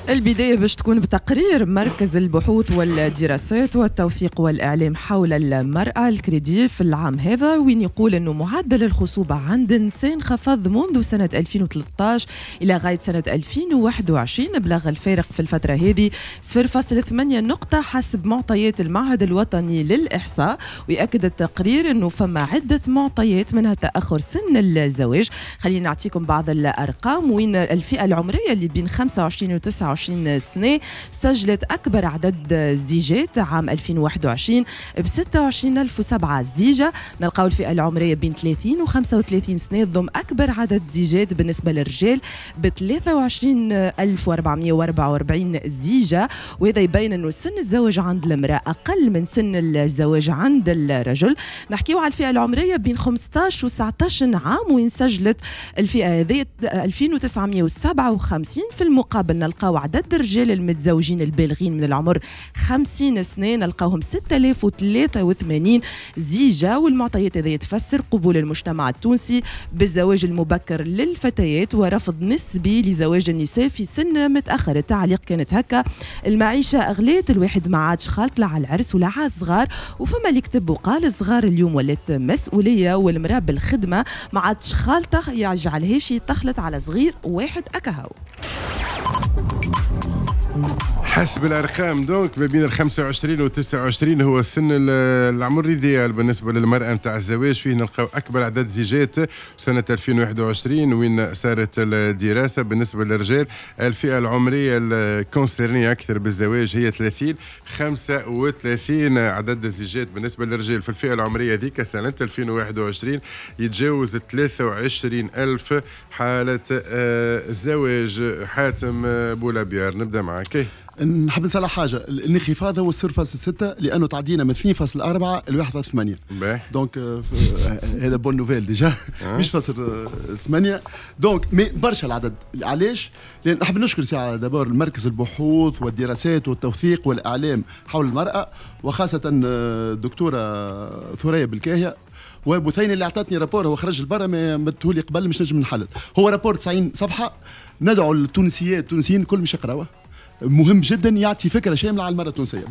البداية باش تكون بتقرير مركز البحوث والدراسات والتوثيق والإعلام حول المرأة الكريدي في العام هذا، وين يقول أنه معدل الخصوبة عند النساء انخفض منذ سنة 2013 إلى غاية سنة 2021. بلغ الفارق في الفترة هذه 0.8 نقطة حسب معطيات المعهد الوطني للإحصاء. ويأكد التقرير أنه فما عدة معطيات منها تأخر سن الزواج. خلينا نعطيكم بعض الأرقام، وين الفئة العمرية اللي بين 25 و 29 سنة سجلت أكبر عدد زيجات عام 2021 ب 26007 زيجة. نلقاو الفئة العمرية بين 30 و 35 سنة تضم أكبر عدد زيجات بالنسبة للرجال ب 23444 زيجة، وهذا يبين أنه سن الزواج عند المرأة أقل من سن الزواج عند الرجل. نحكيو على الفئة العمرية بين 15 و 19 عام، وين سجلت الفئة هذه 2957. في المقابل نلقاو عدد الرجال المتزوجين البالغين من العمر 50 سنة نلقاوهم 6083 زيجة. والمعطيات هذه تفسر قبول المجتمع التونسي بالزواج المبكر للفتيات ورفض نسبي لزواج النساء في سن متأخر. التعليق كانت هكا: المعيشة أغليت، الواحد ما عادش خالط لا على العرس ولا على الصغار. وفما اللي كتب وقال الصغار اليوم ولات مسؤولية والمرأة بالخدمة ما عادش خالطة، يجعلهاش تخلط على صغير واحد أكهو. حسب الارقام donc ما بين ال 25 و 29 هو السن العمر l'idéal بالنسبة للمراة نتاع الزواج، فيه نلقاو اكبر عدد زيجات سنة 2021 وين صارت الدراسة. بالنسبة للرجال الفئة العمرية ال concernée اكثر بالزواج هي 30 35. عدد الزيجات بالنسبة للرجال في الفئة العمرية ذيك سنة 2021 يتجاوز 23 ألف حاله زواج. حاتم بولابيار، نبدا معك. نحب نسأل حاجة، الانخفاض هو 0.6 لأنه تعدينا من 2.4 ل 1.8، donc هذا bonne nouvelle déjà، مش فاصل 8 donc mais برشا العدد. علاش؟ لأن نحب نشكر ساعة d'abord المركز البحوث والدراسات والتوثيق والإعلام حول المرأة، وخاصة الدكتورة ثريا بالكاهية وبثينة اللي اعطتني rapport. هو خرج لبرا، ما مدتهولي قبل مش نجم نحلل. هو rapport 90 صفحة، ندعو التونسيات التونسيين الكل مش يقراوه، مهم جدا، يعطي فكرة شاملة على المراة التونسيه.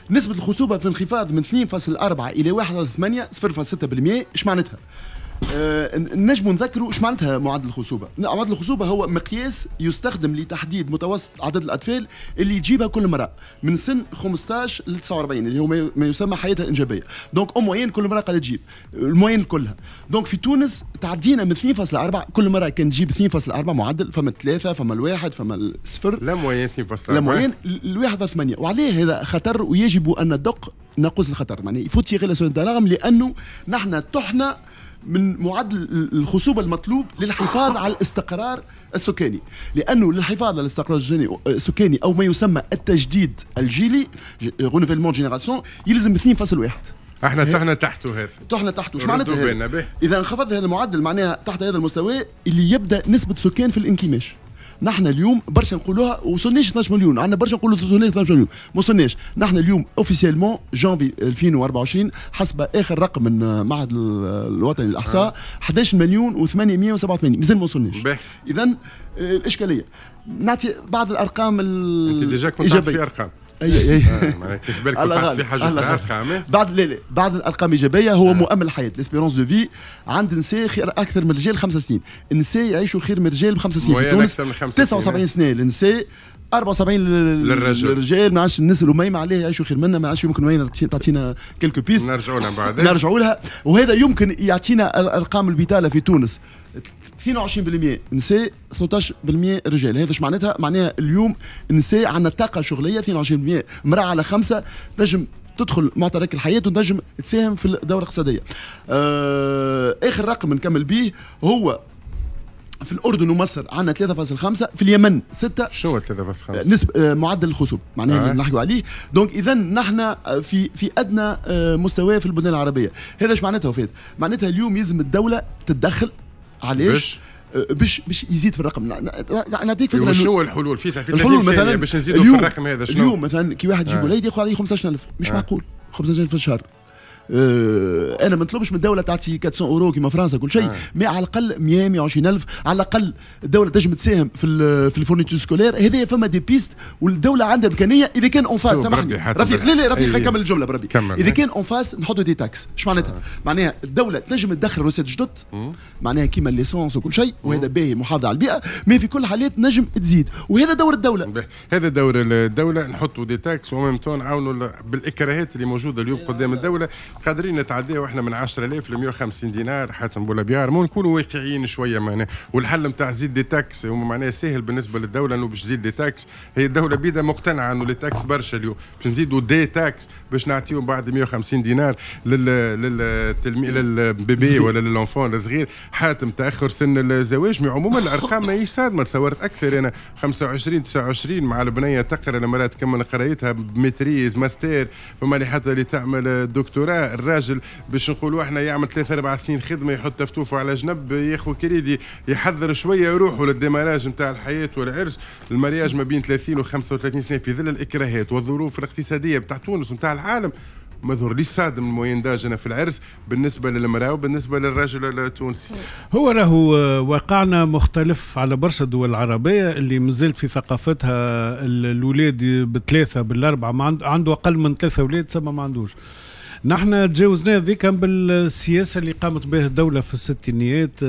نسبه الخصوبة في انخفاض من 2.4 الى 1.8، 0.6%. ايش معناتها؟ نجم نذكروا ايش معناتها معدل الخصوبة. معدل الخصوبة هو مقياس يستخدم لتحديد متوسط عدد الاطفال اللي يجيبها كل امراة من سن 15 ل 49، اللي هو ما يسمى حياتها الانجابيه. donc en moyenne كل امراة قاعدة تجيب ال moyenne كلها. donc في تونس تعدينا من 2.4، كل امراة كان تجيب 2.4 معدل، فما ثلاثه، فما الواحد، فما الصفر. la moyenne 2.4. la moyenne 1.8. وعليه هذا خطر ويجب ان ندق ناقوس الخطر، معناها il faut tirer la sonnette d'alarme، لانه نحن طحنا من معدل الخصوبة المطلوب للحفاظ على الاستقرار السكاني، لأنه للحفاظ على الاستقرار السكاني أو ما يسمى التجديد الجيلي، renouvellement génération، يلزم 2.1. احنا طحنا تحته هذا. طحنا تحته. ايش معناتها؟ اذا انخفض هذا المعدل معناها تحت هذا المستوى اللي يبدا نسبه سكان في الانكماش. نحن اليوم برشا نقولوها وصلناش 12 مليون، عندنا برشا نقولوا وصلنا 12 مليون، ما وصلناش. نحن اليوم officiellement janvier 2024 حسب اخر رقم من معهد الوطني للاحصاء 11 مليون و887، مازال ما وصلناش. اذا الاشكاليه، نعطي بعض الارقام. انت déjà كنت في ارقام. اي. معناها كيف بالك كنت في حاجة ارقام. بعد، لا لا، بعض الارقام ايجابية هو مؤمل الحياه، l'espérance de vie عند النساء خير اكثر من الرجال 5 سنين. النساء يعيشوا خير من الرجال ب5 سنين في تونس، 79 سنة للنساء، 74 للرجل. للرجال. ما عادش الناس الأميمة عليه يعيشوا خير منا، ما عادش يمكن وين تعطينا quelques pistes. نرجعوا لها بعد. نرجعوا لها. وهذا يمكن يعطينا الارقام، البطالة في تونس 22% نساء، 13% رجال. هذا ايش معناتها؟ معناها اليوم النساء عندنا طاقة شغليه، 22%، امراة على خمسة تنجم تدخل معترك الحياة وتنجم تساهم في الدورة الاقتصاديه. اخر رقم نكمل به هو في الاردن ومصر عندنا 3.5، في اليمن 6. شو 3.5؟ نسبه معدل الخصوبة معناها اللي نحكوا عليه. donc اذا نحن في ادنى مستوى في البلدان العربيه. هذا ايش معناتها وفات؟ معناتها اليوم يلزم الدولة تتدخل. علاش؟ باش يزيد في الرقم. نعطيك فكره. شنو الحلول في الحلول مثلا باش نزيدوا في الرقم هذا؟ شنو اليوم مثلا كي واحد يجيب وليد ياخذ عليه 15000، مش معقول 15000 في الشهر. انا ما نطلبش من الدولة تعطي 400 اورو كيما فرنسا كل شيء، mais على الاقل 100 120 الف، على الاقل الدولة تنجم تساهم في ال fournitures scolaires. هذه فما des pistes والدولة عندها امكانية اذا كان en face. سامحني رفيق، لا لا رفيق، خلينا نكمل الجملة بربي. اذا كان en face نحطوا des taxes، اش معناتها؟ معناها الدولة تنجم تدخل recettes جدد، معناها كيما l'essence وكل شيء، وهذا باهي محافظة على البيئه، mais في كل الحالات نجم تزيد، وهذا دور الدوله. هذا دور الدوله، نحطوا des taxes و même temps نعاونوا بالاكراهات اللي موجودة اليوم قدام الدوله، قادرين نتعداو احنا من 10000 ل 150 دينار. حاتم بولابيار، مو نكونوا واقعيين شوية معناها، والحل نتاع زيد des taxes هو معناها سهل بالنسبة للدولة انه باش تزيد des taxes، هي الدولة بيدا مقتنعة انه les taxes برشا، اليوم باش نزيدوا des taxes باش نعطيهم بعد 150 دينار للتلميذ، لل bébé ولا لل enfant الصغير. حاتم، تاخر سن الزواج، عموما الارقام ماهيش صادمه، تصورت اكثر انا 25 29 مع البنية تقرا، المراة تكمل قرايتها ب maîtrise، mastère، فما اللي حتى اللي تعمل دكتوراه. الراجل باش نقولوا احنا يعمل 3 4 سنين خدمه، يحط تفتوفه على جنب، ياخذ كريدي، يحضر شوية يروحوا لل démarrage نتاع الحياة والعرس، ال mariage ما بين 30 و 35 سنة في ظل الاكراهات والظروف الاقتصادية بتاع تونس ونتاع العالم، ما ظهرليش صادم ال moyenne d'âge في العرس بالنسبة للمراة وبالنسبة للرجل التونسي. هو راهو واقعنا مختلف على برشا دول العربية اللي مازالت في ثقافتها الاولاد بثلاثة بالاربعه، ما عنده اقل من ثلاثة اولاد تسمى ما عندوش. نحن تجاوزنا ذيك بالسياسة اللي قامت بها الدولة في الستينيات،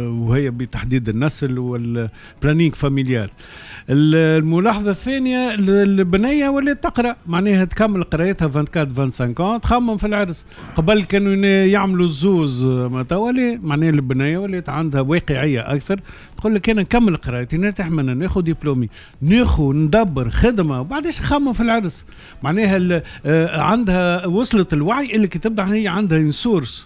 وهي بتحديد النسل وال planning familial. الملاحظة الثانيه، البنية ولات تقرا، معناها تكمل قرايتها 24 25، تخمم في العرس. قبل كانوا يعملوا الزوز، ما توا معناها البنية ولات عندها واقعية اكثر، تقول لك انا نكمل قرايتي، نرتاح منها، ناخذ دبلومي، ناخذ ندبر خدمه، وبعديش نخمم في العرس. معناها عندها وصلت الوعي اللي كي تبدا هي عندها une source.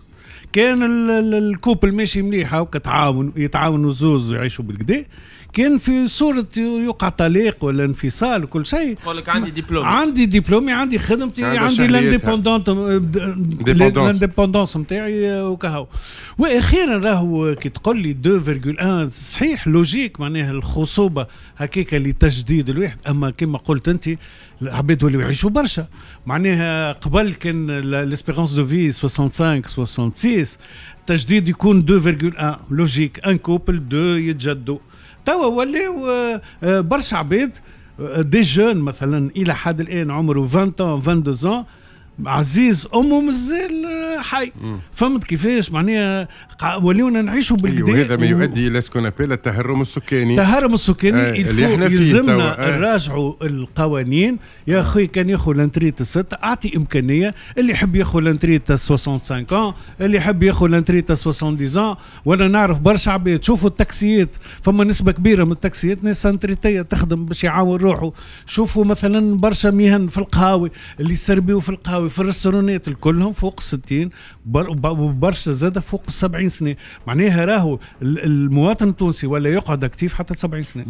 كان ال couple ماشي مليح وكتعاون، يتعاونوا زوز ويعيشوا بالقدا. كان في صورة يوقع طلاق ولا انفصال وكل شيء، يقول لك عندي دبلوم، عندي دبلومي، عندي خدمتي، عندي l'indépendance نتاعي وكهو. واخيرا راهو كي تقول لي 2.1 صحيح logique، معناها الخصوبة هكاك لتجديد الواحد، اما كما قلت انت العباد ولاو يعيشوا برشا. معناها قبل كان l'espérance de vie 65 66، تجديد يكون 2.1 logique، un couple deux يتجدوا. توا ولاو برشا عباد des jeunes مثلا الى حد الان عمره 20 22، عزيز امه مازال حي. فهمت كيفاش؟ معناها ولينا نعيشوا بالقدا. وهذا ما يؤدي الى ce qu'on appelle التهرم السكاني. التهرم السكاني. اللي احنا يلزمنا نراجعوا القوانين يا اخي. كان ياخذ la retraite الستة، اعطي امكانية اللي يحب ياخذ la retraite 65، اللي يحب ياخذ la retraite 70. وانا نعرف برشا عباد، شوفوا التاكسيات، فما نسبه كبيرة من التاكسيات ناس retraités تخدم باش يعاون روحه. شوفوا مثلا برشا مهن في القهاوي، اللي يسربيوا في القهاوي، في ال restaurants، الكلهم فوق 60 وبرشا زاد فوق 70 سنه. معناها راهو المواطن التونسي ولا يقعد actif حتى 70 سنه.